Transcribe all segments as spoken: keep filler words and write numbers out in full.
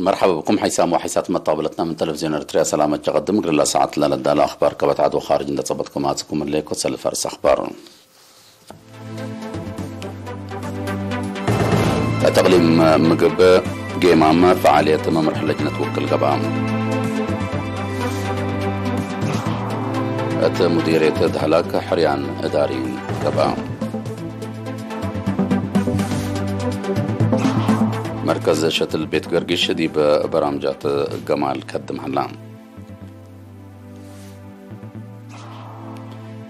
መርሐበ ብኩም ሐይሳም ወሐይሳት መጣብለትና ምን ተለቪዝዮን ኤረትርያ ሰላመ ጀቀድም። እግል ለሰዓት ለለዳለ አኽባር ከበትዐድ ወኻርጅ እንደ ጸበጥኩም አጽኩም እለ ኮሰል ፈርስ አኽባር። እት እቅሊም ምግብ ጌማም ፈዓልየት መምርሕ ለጅነት ውክል ገብአ። እት ሙዲርየት ደህላክ ሕርያን እዳሪ ገብአ። መርከዝ ሸትል ቤት ገርጊሽ ዲብ በራምጃት ገማል ከድም ሀላ።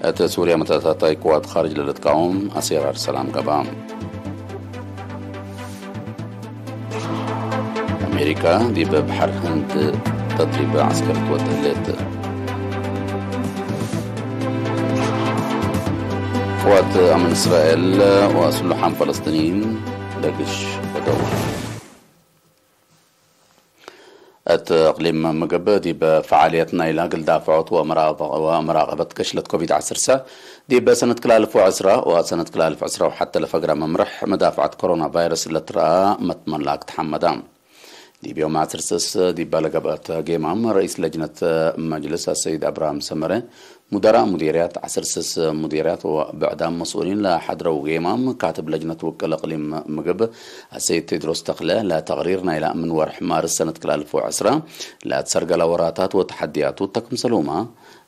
እት ሱርያ መተታታይ ቅዋት ኻርጅ ለልትቃወም አሴራር ሰላም ገብአ። አሜሪካ ዲብ በሐር ህንድ ተድሪብ ዐስከር ትወድእ ህሌት። ቅዋት አምን እስራኤል ወስሉሓም ፈለስጢንይን ደግሽ ወደው። እት እቅሊም ምግብ ዲብ ፈዓልየት ናይላ እግል ዳፍዖት ወመራቀ-፣ ወመራቀበት ገሽለት ኮቪድ ዐስር ሰ ዲብ ሰነት ክል አልፍ ወዕስራ ወሰነት ክል አልፍ ዕስራ ወሐተ ለፈግረ መምርሕ መዳፍዐት ኮሮና ቫይረስ ለትረአ መትመላክ ተሐመዳ። ዲብ ዮም ዐስር ስስ ዲብ ለገብአት ጌማም ረኢስ ለጅነት መጅልስ አሰይድ አብርሃም ሰመረ፣ ሙደራእ ሙዲርያት፣ ዐስር ስስ ሙዲርያት ወብዕዳም መስኡሊን ለሐድረው ጌማም፣ ካትብ ለጅነት ውቅል እቅሊም ምግብ አሰይድ ቴድሮስ ተክለ ለተቅሪር ናይላ ምን ወርሕ ማርስ ሰነት ክል አልፍ ወዕስራ ለትሰርገላ ወራታት ወተሐድያቱ ተክምሰልሁመ፣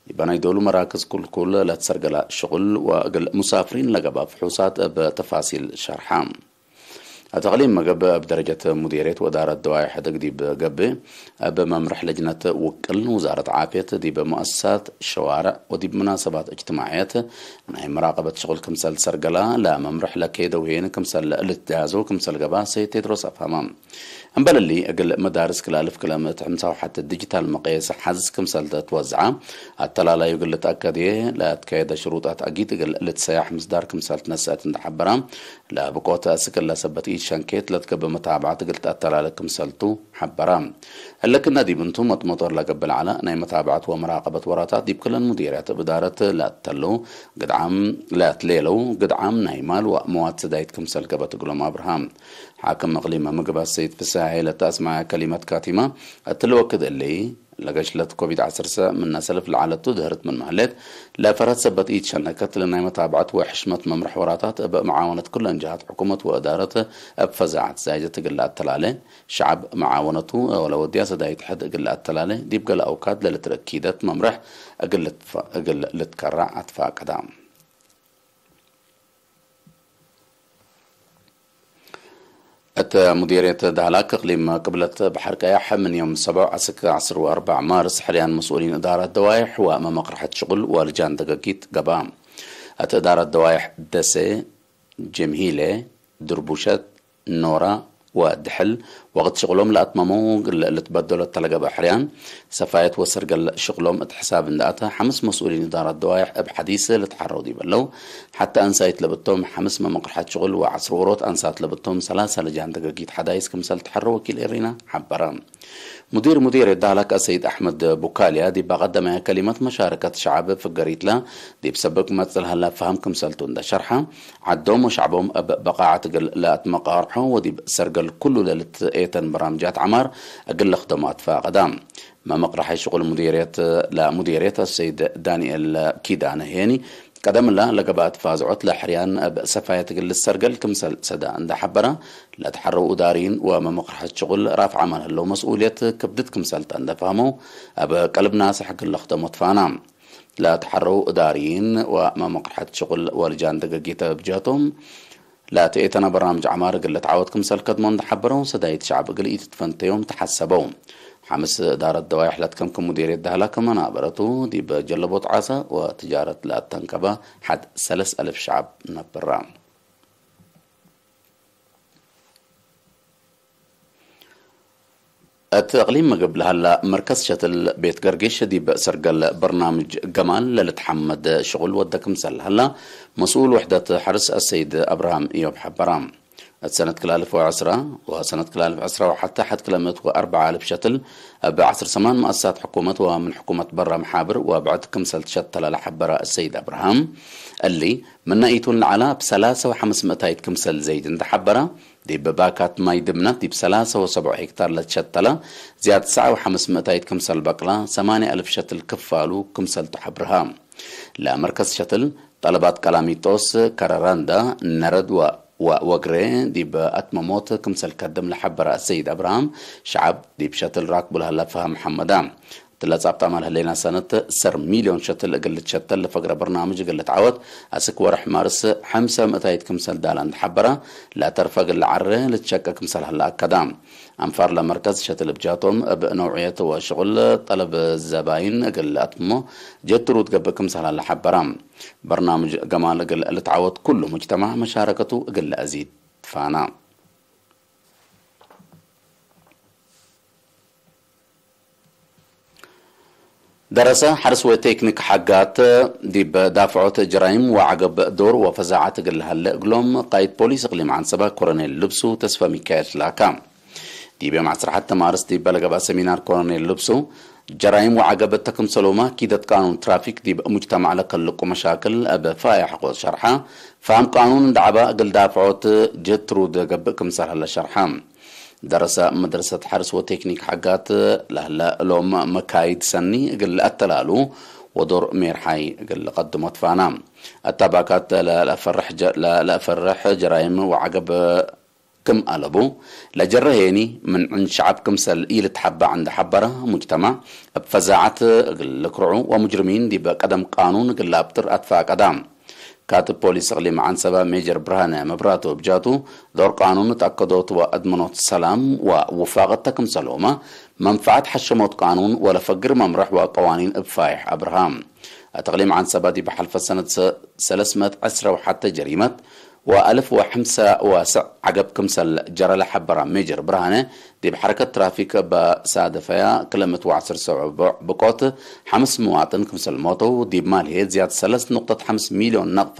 ዲበ ናይ ዶሉ መራክዝ ክልኩል ለትሰርገላ ሽቁል ወእግል ሙሳፍሪን ለገብአ ፍሑሳት እብ ተፋሲል ሸርሐ። እት እቅሊም ምግብ እብ ደረጀት ሙዲርየት ወእዳረት ደዋይ ሕድግ ዲብ ገብእ፣ እብ መምርሕ ለጅነት ውቅል ውዛረት ዓፍየት ዲብ ሙአሰሳት፣ ሸዋርዕ ወዲብ መናሰባት እጅትማዕየት ናይ መራቀበት ሽቁል ክምሰል ሰርገላ ለመምርሕ ለኬደው ሄን ክምሰል ልትጃዞ ክምሰል ገብአ ሰይድ ቴድሮስ አፍሀመ። እምበል እሊ፣ እግል መዳርስ ክል አልፍ ክለ ምእት ሕምሳ ወሐት ዲጂታል መቅየስ ሐዝ ክምሰል ትወዝዐ፣ አተላላዩ እግል ልትአከድየ ለአትከየደ ሽሩጣት አጊድ እግል ልትሰያሕ ምስዳር ክምሰል ትነሰአት እንደ ሐበራ፣ ለብቆት አስክ እለ ሰበት ኢሸንኬት ለትገብእ መታብዐት እግል ተአተላለ ክምሰልቱ ሐበራ። እለ ክእነ ዲብ እንቱ መጥመጦር ለገብእ ለዐለ ናይ መታብዐት ወመራቀበት ወራታት ዲብ ክለን ሙዲርያት እብ እዳረት ለአተሉ ግድዓም፣ ለአትሌለው ግድዓም ናይ ማል ወአምዋት ሰዳይት ክምሰል ገብአት እግሎም አብርሃም። ሓክም እቅሊም ምግብ አሰይድ ፍስሐ ሄለ ተአስመዐ ከሊመት ካቲመ፣ እትሊ ወክድ እሊ፣ ለገሽለት ኮቪድ ዐስር ሰ ምነ ሰልፍ ለዐለቱ ድህርት ምንመ ህሌት፣ ለፈርሀት ሰበት ኢትሸነከት፣ ለናይ መታብዐት ወሕሽመት መምርሕ ወራታት እብ መዓወነት ኩለን ጀሃት ሕኩመት ወእዳረት እብ ፈዛዐት ዛይደት እግል ለአተላሌ፣ ሸዐብ መዓወነቱ ወለወድያ ሰዳይት ሕድ እግል ለአተላሌ፣ ዲብ ገሌ አውካድ ለልትረክ ኪደት መምርሕ እግል ልትፈ-፣ እግል ልትከረዕ አትፋቀዳ። እት ሙዲርየት ዳህላክ እቅሊም ቅብለት በሐር ቀያሕ ምን ዮም ሰብዕ አስክ ዐስር ወአርበዕ ማርስ ሕርያን መስኡሊን እዳረት ደዋይሕ ወመመቅርሐት ሽቁል ወልጃን ደገጊት ገብአ። እት እዳረት ደዋይሕ ደሴ፣ ጀምሂሌ፣ ድርቡሸት፣ ኖራ ወድሕል ወቅት ሽቅሎም ለአትመመው እግል ልትበደሎ እተ ለገብአ ሕርያን ሰፋየት ወሰርገል ሽቅሎም እት ሕሳብ እንደ አተ፣ ሐምስ መስኡሊን እዳረት ደዋይሕ እብ ሐዲስ ልትሐረው ዲብ ዐለው፣ ሐተ አንሳይት ለብቶም ሐምስ መመቅርሐት ሽቅል ወዐስር ዎሮት አንሳት ለብቶም ሰላሳ ለጃን ደገጊት ሐዳይስ ክምሰል ተሐረው ወኪል ኤሪና ሐበረ። ሙዲር ሙዲርየት ዳህላክ አሰይድ አሕመድ ቡካልያ ዲብ አቀደመየ ከሊመት፣ መሻረከት ሸዐብ ፍገሪትለ ዲብ ሰብብ ክመጽእ ለሀላ ፈሀም ክምሰልቱ እንደ ሸርሐ፣ ዐዶም ወሸዕቦም እብ በቃዐት እግል ለአትመቃርሖ ወዲብ ሰርገል ኩሉ ለልትኤተን በራምጃት ዐማር እግል ለክደሞ አትፋቀዳ። መመቅረሐይ ሽቁል ሙዲርየት ለሙዲርየት አሰይድ ዳንኤል ኪዳነ ሄኒ፣ ቀደምላ ለገብአት ፋዝዖት ለሕርያን እብ ሰፋየት እግል ልትሰርገል ክምሰል ሰዳ እንደ ሐበረ፣ ለተሐረው እዳርይን ወመመቅረሐት ሽቁል ራፍዐ ማል ህለው መስኡልየት ክብድት ክምሰልተ እንደ ፈሀመው፣ እብ ቀልብ ናስሕ እግል ለክደሞ ትፋና። ለተሐረው እዳርይን ወመመቅርሐት ሽቁል ወልጃን ደገጊተ እብ ጀህቶም፣ ለትኤተነ በርናምጅ ዐማር እግል ልትዓወት ክምሰል ከድሞ እንደ ሐበረው፣ ሰዳይት ሸዕብ እግል ኢትትፈንተዮም ተሐሰበው። ሐምስ እዳረት ደዋይሕ ለትከምክም ሙዲርየት ዳህላክ መናበረቱ ዲብ ጀለቦት ዓሰ ወትጃረት ለአተንከበ ሐድ ሰለስ አልፍ ሸዕብ ነብራ። እት እቅሊም ምግብ ለሀላ መርከዝ ሸትል ቤት ገርጊሽ ዲብ ሰርገል በርናምጅ ገማል ለልትሐመድ ሽቁል ወደ ክምሰል ለሀላ መስኡል ውሕደት ሐርስ አሰይድ አብርሃም እዮብ ሐበራ። እት ሰነት ክል አልፍ ወዐስራ ወሰነት ክል አልፍ ዕስራ ወሐተ ሐድ ክለ ምእት ወአርበዕ አልፍ ሸትል እብ ዐስር ሰማን መአሰሳት ሕኩመት ወምን ሕኩመት በረ መሓብር ወብዕድ ክምሰል ትሸተለ ለሐበረ አሰይድ አብርሃም፣ እሊ ምነ ኢቱን ለዐላ እብ ሰላሰ ወሐምስ ምእታይት ክምሰል ዘይድ እንደ ሐበረ፣ ዲብ ባካት ማይ ድምነት ዲብ ሰላሳ ወሰብዑ ሄክታር ለትሸተለ ዝያድ ትስዐ ወሐምስ ምእታይት ክምሰል በቅላ፣ ሰማንያ አልፍ ሸትል ክፋሉ ክምሰልቱ ሐብርሃ። ለመርከዝ ሸትል ጠለባት ቀላሚጦስ፣ ከረራንዳ፣ ነረድ ወ-፣ ወወግሬ ዲብ አትመሞት ክምሰል ከድም ለሐበረ አሰይድ አብርሃም፣ ሸዐብ ዲብ ሸትል ራክቡ ለሀለ ፈሀም ሐመዳ። እትለ ጻብጣመ ለህሌና ሰነት ሰር ሚልዮን ሸትል እግል ልትሸተል ለፈግረ በርናምጅ እግል ልትዓወት፣ አስክ ወርሕ ማርስ ሐምሰ ምእታይት ክምሰል ዳላ እንደ ሐበረ፣ ለተርፈ እግል ለዐሬ ልትሸቀ ክምሰል ሀለ አከዳ። አንፋር ለመርከዝ ሸትል እብ ጃቶም እብ ነውዕየት ወሽቁል ጠለብ ዘባይን እግል ለአትምሞ ጀትሩት ገብእ ክምሰል ሀለ ሐበረ። በርናምጅ ገማል እግል ልትዓወት ኩሉ ሙጅተማዕ መሻረከቱ እግል ለአዚድ ፋና። ደረሰ ሐርስ ወቴክኒክ ሐጋት ዲብ ዳፍዖት ጀራይም ወዐገብ ዶር ወፈዛዐት እግል ለሀለ እግሎም ቃይድ ፖሊስ እቅሊም ዐንሰበ ኮሎኔል ልብሱ ተስፈ ሚካኤል ላካ። ዲብ ዮም ዐስር ሐተ ማርስ ዲብ ለገብአ ሰሚናር ኮሎኔል ልብሱ፣ ጀራይም ወዐገብ እተ ክምሰሎመ ኪደት ቃኑን ትራፊክ ዲብ ሙጅተማዕ ለከልቁ መሻክል እብ ፋያሕ ሐቆ ሸርሐ፣ ፋም ቃኑን እንደ ዐበ እግል ዳፍዖት ጀትሩድ ገብእ ክምሰል ሀለ ሸርሐ። ደረሰ መድረሰት ሐርስ ወቴክኒክ ሐጋት ለህለ እሎም መካይድ ሰኒ እግል ለአተላሉ ወዶር ሜርሓይ እግል ለቀድሞ ትፋና። አታባካት ለለአፈርሕ ጀ-፣ ለለአፈርሕ ጀራይም ወዐገብ ክም አለቡ፣ ለጀረ ሄኒ ምን ዕን ሸዐብ ክምሰል ኢልትሐበዕ እንደ ሐበረ፣ ሙጅተማዕ እብ ፈዛዐት እግል ልክርዑ ወሙጅርሚን ዲብ ቀደም ቃኑን እግል ለአብጥር አትፋቀዳ። ካትብ ፖሊስ እቅሊም ዐንሰበ ሜጀር ብርሃነ መብራቱ እብ ጃቱ፣ ዶር ቃኑን እት አከዶት ወአድመኖት ሰላም ወውፋቀት ተ ክምሰልሁመ፣ መንፈዐት ሐሸሞት ቃኑን ወለፈግር መምረሕ ወቀዋኒን እብ ፋይሕ አብርሃ። እት እቅሊም ዐንሰበ ዲብ ሐልፈ ሰነት ሰ-፣ ሰለስ ምእት ዕስረ ወሐተ ጀሪመት ወአልፍ ወሐምሰ ወሰዕ ዐገብ ክምሰል ጀረ ለሐበረ ሜጀር ብርሃነ፣ ዲብ ሐረከት ትራፊክ እበ ሳደፈያ ክለ ምእት ወዐስር ሰዑቡዕ ብቆት ሐምስ መዋጥን ክምሰል ሞተው፣ ዲብ ማል ህዬ ዝያድ ሰለስ ንቁጠት ሐምስ ሚልዮን ነቅፈ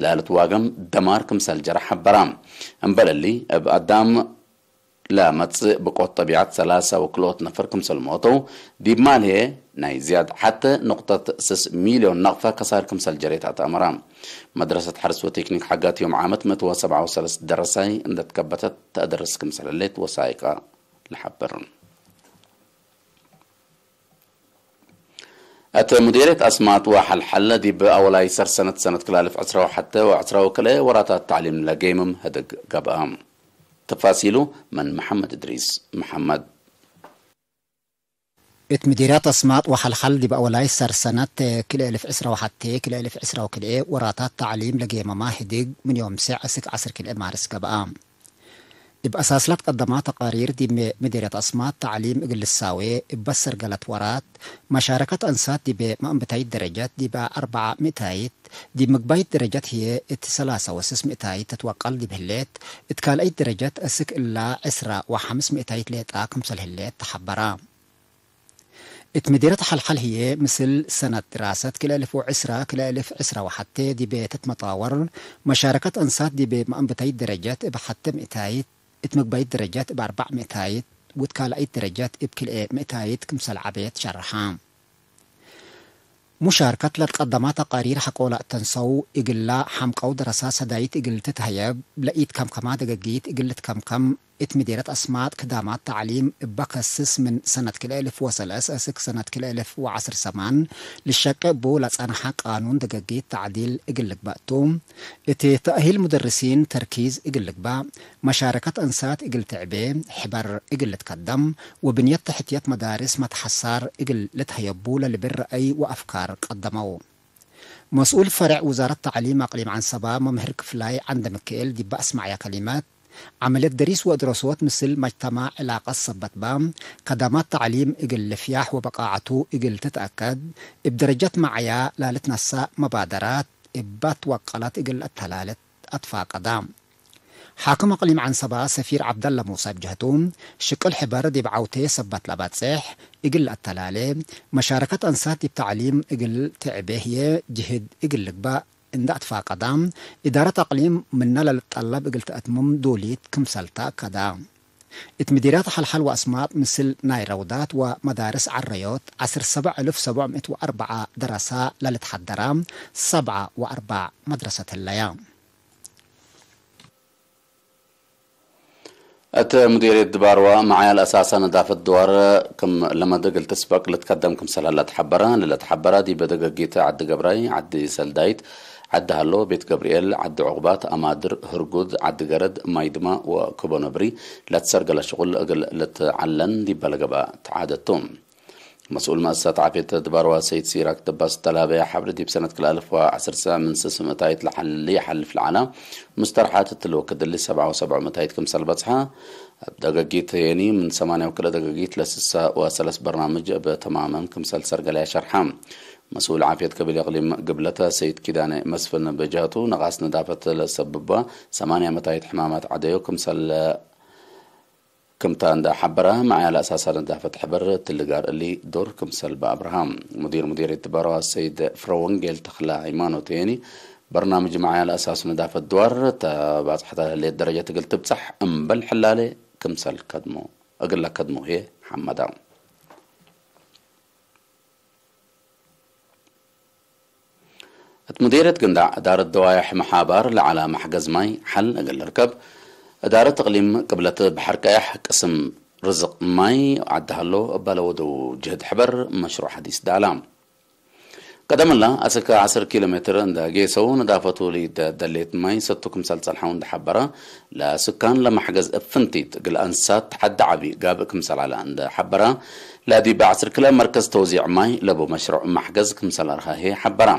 ለልትዋገም ደማር ክምሰል ጀረ ሐበራ። እምበል እሊ፣ እብ አዳም ለመጽእ ብቆት ጠቢዐት ሰላሳ ወክልኦት ነፈር ክምሰል ሞተው፣ ዲብ ማል ህዬ ናይ ዝያድ ሐተ ንቁጠት ስስ ሚልዮን ነቅፈ ከሳር ክምሰል ጀሬት አትአመራ። መድረሰት ሐርስ ወቴክኒክ ሐጋት ዮም ዓመት ምእት ወሰብዓ ወሰለስ ደረሳይ እንደ ትከበተት ተአደርስ ክምሰል ህሌት ወሳይቀ ለሐብር። እት ሙዲርየት አስማጥ ወሐልሐል ዲብ አወላይ ሰርሰነት ሰነት ክልኤ አልፍ ዕስራ ወሐተ ወዕስራ ወክልኤ ወራታት ተዕሊም ለጌምም ህድግ ገብአ። ተፋሲሉ ምን መሐመድ እድሪስ መሐመድ። እት ምዲርያት አስማጥ ወሐልሐል ዲብ አወላይ ሰርሰነት ክልኤ አልፍ ዕስራ ወሐቴ፣ ክልኤ አልፍ ዕስራ ወክልኤ ወራታት ተዕሊም ለጌመማ ህድግ ምን ዮም ሴዕ እስክ ዐስር ክልኤ ማርስ ገብአ። እብ አሳስ ለትቀደማ ተቃሪር ዲብ ምዲርያት አስማጥ ተዕሊም እግል ልሳዌ እበ ሰርገለት ወራት፣ መሻረከት አንሳት ዲብ መአንብታይት ደረጀት ዲብ አርበዕ ምእታይት፣ ዲብ ምግባይት ደረጀት ህዬ እት ሰላሳ ወስስ ምእታይት ትትወቀል ዲብ ህሌት፣ እት ካልአይት ደረጀት እስክ እላ ዕስራ ወሐምስ ምእታይት ሌጣ ክምሰል ህሌት ተሐበራ። እት ምዲርየት ሐልሐል ህዬ፣ ምስል ሰነት ድራሰት ክልኤ አልፍ ወዕስራ፣ ክልኤ አልፍ ዕስራ ወሐቴ ዲብ ትትመጣወር፣ መሻረከት አንሳት ዲብ መአንብታይት ደረጀት እብ ሐቴ ምእታይት፣ እት ምግባይት ደረጀት እብ አርበዕ ምእታይት፣ ወእት ካልአይት ደረጀት እብ ክልኤ ምእታይት ክምሰል ዐቤት ሸርሐ። ሙሻርከት ለትቀደማ ተቃሪር ሐቆ ለአተንሰው እግላ ሐምቀው ደረሳ ሰዳይት እግል ትትሀየብ፣ ለኢትከምከማ ደገጊት እግል ልትከምከም፣ እት ምዲርየት አስማጥ ክዳማት ተዕሊም እበ ከስስ ምን ሰነት ክልኤ አልፍ ወሰለስ እስክ ሰነት ክልኤ አልፍ ወዐስር ሰማን ልሸቄ እቡ ለጸንሐ ቃኑን ደገጊት ተዕዲል እግል ልግበእ ቱ። እት ተእሂል ሙደርሲን ተርኪዝ እግል ልግበእ፣ መሻረከት አንሳት እግል ትዕቤ፣ ሕበር እግል ልትከደም ወብንየት ተሕትየት መዳርስ መትሐሳር እግል ልትሀየቡ ለልብል ረአይ ወአፍካር ቀደመው። መስኡል ፈሬዕ ውዛረት ተዕሊም አቅሊም ዐንሰባ መምህር ክፍላይ ዐንደ ምክኤል ዲበ አስመዐያ ከሊመት፣ ዐመልየት ደሪስ ወእድረሶት ምስል መጅተማዕ ዕላቀት ሰበት በ፣ ከዳማት ተዕሊም እግል ልፍያሕ ወበቃዐቱ እግል ትትአከድ፣ እብ ደረጀት መዐያ ላልትነሰእ መባደራት እበ ትወቀለት እግል አተላለት አትፋቀዳ። ሓክም አቅሊም ዐንሰባ ሰፊር ዐብደለ ሙሰ እብ ጀህቱ፣ ሽቅል ሕበር ዲብ ዐውቴ ሰበት ለበጽሕ እግል ለአተላሌ፣ መሻረከት አንሳት ዲብ ተዕሊም እግል ትዕቤ ህዬ ጅህድ እግል ልግበእ እንደ አትፋቀዳ፣ እዳረት አቅሊም ምነ ለልትጠለብ እግል ተአትምም ዶልይት ክምሰል ተአከዳ። እት ምዲርያት ሐልሐል ወአስማጥ ምስል ናይ ረውዳት ወመዳርስ ዐረዮት ዐስር ሰብዕ እልፍ ሰብዕ ምእት ወአርበዓ ደረሳ ለልትሐደራ ሰብዓ ወአርበዕ መድረሰት ህለያ። እት ሙዲርየት ድባርዋ መዓያ ለአሳሳ ነዳፈት ድዋር ክም ለመደ እግል ትስበቅ ልትከደም ክምሰል ሀላ ተሐበረ። ለለተሐበረ ዲብ ደገጊት ዐዲ ገብራይ፣ ዐዲ ሰልዳይት፣ ዐዲ ሀሎ፣ ቤት ገብርኤል፣ ዐዲ ዑቅባት፣ አማድር፣ ህርጉድ፣ ዐዲ ገረድ፣ ማይድማ ወኩቦ ነብሪ ለትሰርገለ ሽቁል እግል ልትዐለን ዲበ ለገብአ ተዓደት ቱ። መስኡል መአሰሳት ዓፍየት ድባርዋ ሰይድ ሲራክ ደባስ እተ ለሀበየ ሐብር፣ ዲብ ሰነት ክልኤ አልፍ ወዐስር ምን ስስ ምእታይት ለሐሊ ሐልፍ ለዐለ ሙስተርሓት እት ልወክድ እሊ ሰብዓ ወሰብዑ ምእታይት ክምሰል በጽሐ። እብ ደገጊት የኒ ምን ሰማንያ ወክልኤ ደገጊት ለስሳ ወሰለስ በርናምጅ እብ ተማመም ክምሰል ሰርገለያ ሸርሐ። መስኡል ዓፍየት ከቢል እቅሊም ግብለተ ሰይድ ኪዳነ መስፍን በጀሀቱ፣ ነቃስ ነዳፈት ለሰብባ ሰማንያ ምእታይት ሕማማት ዐደዮ ክምሰል ክምታ እንደ ሐበረ፣ መዓያ ለአሳሳ ነዳፈት ሕበር እትሊ ጋር እሊ ዶር ክምሰል በአብርሃም። ሙዲር ሙዲርየት ድባርዋ ሰይድ ፍረወንጌል ተክለ ሃይማኖት የኒ፣ በርናምጅ መዓያ ለአሳስ ነዳፈት ድዋር ተባጽሐተ ለህሌት ደረጀት እግል ትብጸሕ እምበል ሕላሌ ክምሰል ከድሞ፣ እግል ለከድሞ ህዬ ሐመደ። እት ሙዲርየት ግንዳዕ እዳረት ደዋየሕ መሓባር ለዐለ መሕገዝ ማይ ሐል እግል ልርከብ፣ እዳረት እቅሊም ቅብለት በሐር ቀየሕ ቅስም ርዝቅ ማይ ዐዲ ሀሎ እበ ለወደው ጅህድ ሕበር መሽሩዕ ሐዲስ ዳላ። ቀደም እለ አስክ ዐስር ኪሎ ሜትር እንደ ጌሰው ነዳፈቱ ለኢደሌት ማይ ሰቱ ክምሰል ጸንሐው እንደ ሐበረ፣ ለስካን ለመሕገዝ እብ ፍንቲት እግል አንሳት ተሐዲ ዐቢ ጋብእ ክምሰል ዐለ እንደ ሐበረ፣ ለዲብ ዐስር ክለ መርከዝ ተውዚዕ ማይ ለቡ መሽሩዕ መሕገዝ ክምሰል አርሀ ህዬ ሐበረ።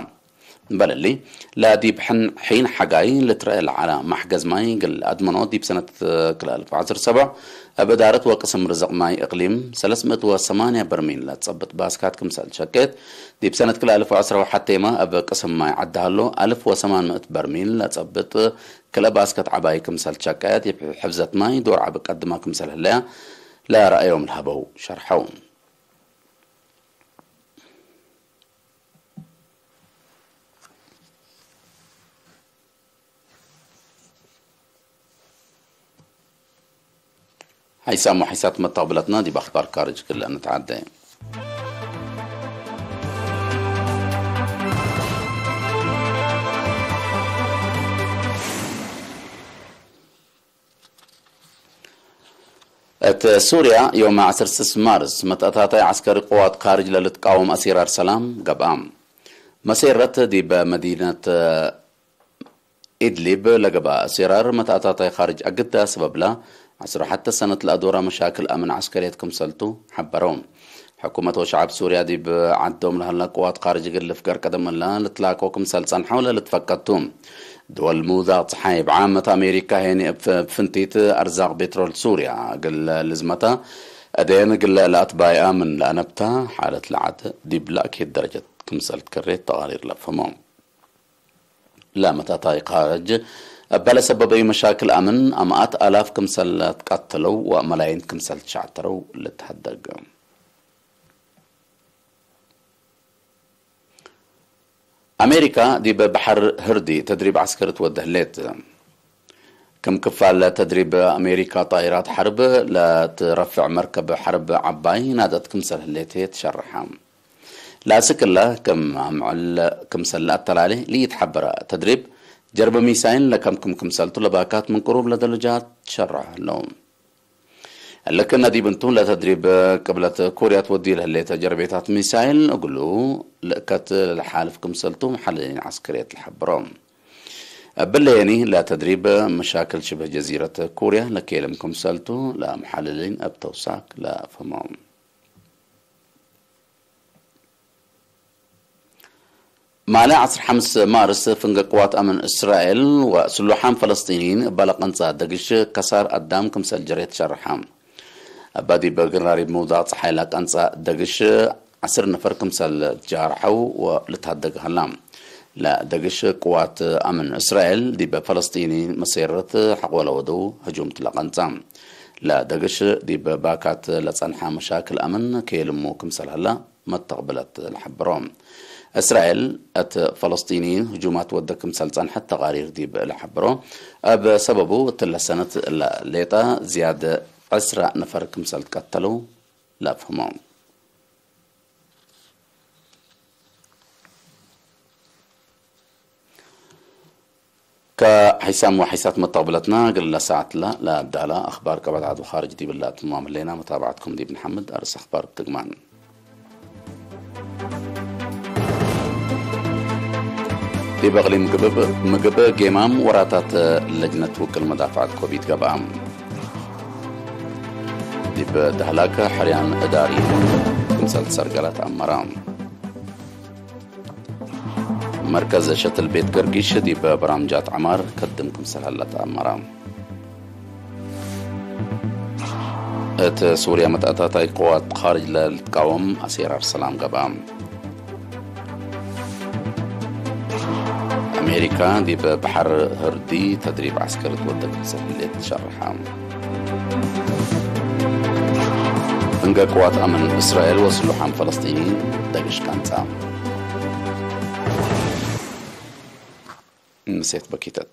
እምበል እሊ፣ ለዲብ ሕን-፣ ሒን ሐጋይ ልትረአ ለዐለ መሕገዝ ማይ እግል አድመኖ ዲብ ሰነት ክልኤ አልፍ ወዐስር ሰብዕ እብ እዳረት ወቅስም ርዝቅ ማይ እቅሊም ሰለስ ምእት ወሰማንያ በርሚል ለጸብጥ ባስካት ክምሰል ሸቄት፣ ዲብ ሰነት ክልኤ አልፍ ወዐስር ወሐቴመ እብ ቅስም ማይ ዐዲ ሀሎ አልፍ ወሰማን ምእት በርሚል ለጸብጥ ክልኤ ባስከት ዐባይ ክምሰል ሸቀየት፣ እብ ሕፍዘት ማይ ዶር ዐቢ ቀድመ ክምሰል ህለያ ለረአዮም ለሀበው ሸርሐው። ሐይሳም ወሐይሳት መተቅብለትና ዲብ አኽባር ካርጅ ክለ እንተዓደ። እት ሱርያ፣ ዮም ዐስር ስስ ማርስ፣ መትአታታይ ዐስከሪ ቅዋት ካርጅ ለልትቃወም አሲራር ሰላም ገብአ። መሴረት ዲብ መዲነት ኢድሊብ ለገብአ አሲራር መትአታታይ ካርጅ አግዳ ሰበብላ፣ ዐስር ወሐተ ሰነት ለአዶረ መሻክል አምን ዐስከርየት ክምሰልቱ ሐበረው። ሕኩመት ወሸዐብ ሱርያ ዲብ ዐዶም ለሀላ ቅዋት ካርጅ እግል ልፍገር ቀደም እለ ልትላኮ ክምሰል ጸንሐው ለልትፈቀድ ቱ። ድወል ምውዛቅ ጸሓይ እብ ዓመት አሜሪካ ሄኒ እብ ፍንቲት አርዛቅ ቤትሮል ሱርያ እግል ልዝመታ፣ እዴን እግል ለአትባይአ ምን ለአነብታ ሓለት ለዐድ ዲብ ለአኬት ደረጀት ክምሰል ትከሬት ተቃሪር ለፍህሞ። ለመታታይ ካርጅ እበ ለሰበበዩ መሻክል አምን አምአት አላፍ ክምሰል ለትቀተለው ወመላይን ክምሰል ትሸዕተረው ልትሀደግ። አሜሪካ ዲብ በሐር ህርዲ ተድሪብ ዐስከሪ ትወዴ ህሌት። ክም ክፋል ተድሪብ አሜሪካ፣ ጣይራት ሐርብ ለትረፍዕ መርከብ ሐርብ ዐባይ ናድአት ክምሰል ህሌት ህዬ ትሸርሐ። ለአስክ እለ፣ ክም አምዕል ክምሰል ለአተላሌ ለኢትሐበረ ተድሪብ፣ ጀርበ ሚሳይል ለከምክም ክምሰልቱ ለባካት ምን ቅሩብ ለደረጃት ትሸርሐ ህለው። እሊ ክእነ ዲብ እንቱ፣ ለተድሪብ ቅብለት ኮርያ ትወዲ ለህሌተ ጀርቤታት ሚሳይል እግሉ ልእከት ለሓልፍ ክምሰልቱ መሐልሊን ዐስከርየት ለሐብሮ። እብለ የኒ፣ ለተድሪብ መሻክል ሽብህ ጀዚረት ኮርያ ለኬልም ክምሰልቱ ለመሐልሊን እብ ተውሳክ ለአፍህሞ። ማለ ዐስር ሐምስ ማርስ፣ ፍንገ ቅዋት አምን እስራኤል ወስሉሓም ፈለስጢንይን እበ ለቀንጸ ደግሽ ከሳር አዳም ክምሰል ጀሬ ትሸርሐ። እበ ዲብ ግራሪብ ምውዳቅ ጸሓይ ለቀንጸ ደግሽ ዐስር ነፈር ክምሰል ጃርሐው ወልትሀደግ ሀላ። ለደግሽ ቅዋት አምን እስራኤል ዲብ ፈለስጢንይን መሴረት ሐቆ ለወደው ህጁምት ለቀንጸ። ለደግሽ ዲብ ባካት ለጸንሐ መሻክል አምን ከየልሙ ክምሰል ሀላ መተቅብለት ለሐብሮ። እስራኤል እት ፈለስጢንይን ህጁማት ወደ ክምሰል ጸንሐት ተቃሪር ዲብ ለሐብሮ። እብ ሰበቡ እትለ ሰነት እለ ሌጠ ዝያድ ዕስራ ነፈር ክምሰል ትቀተለው ለአፍህሞ። ተ ሐይሳም ወሐይሳት መተቅብለትና፣ እግል ለሰዓት ለአዳላ አኽባር ቀበት ዐድ ወኻርጅ ዲብለ አትማም ህሌና፣ መታብዐትኩም ዲብ ንሐምድ። አርስ አኽባር ትግማን። ዲብ እቅሊም ግብእ ምግብ ጌማም ወራታት ለጅነት ውቅል መዳፍዐት ኮቪድ ገብአ። ዲብ ደህላክ ሕርያን እዳሪ ክምሰል ሰርገላት አመራ። መርከዝ ሸትል ቤት ገርጊሽ ዲብ በራምጃት ዐማር ከድም ክምሰል ሀለ ተአመረ። እት ሱርያ መትአታታይ ቅዋት ካርጅ ለልትቃወም አሴራር ሰላም ገብአ። አሜሪካ ዲብ በሐር ህርዲ ተድሪብ ዐስከሪ ትወደ ክምሰል ህሌት ሸርሐ። ፍንገ ቅዋት አምን እስራኤል ወስሉሓም ፈለስጢኒ ደግሽ ቀንጸ። ምሴት በኪተት።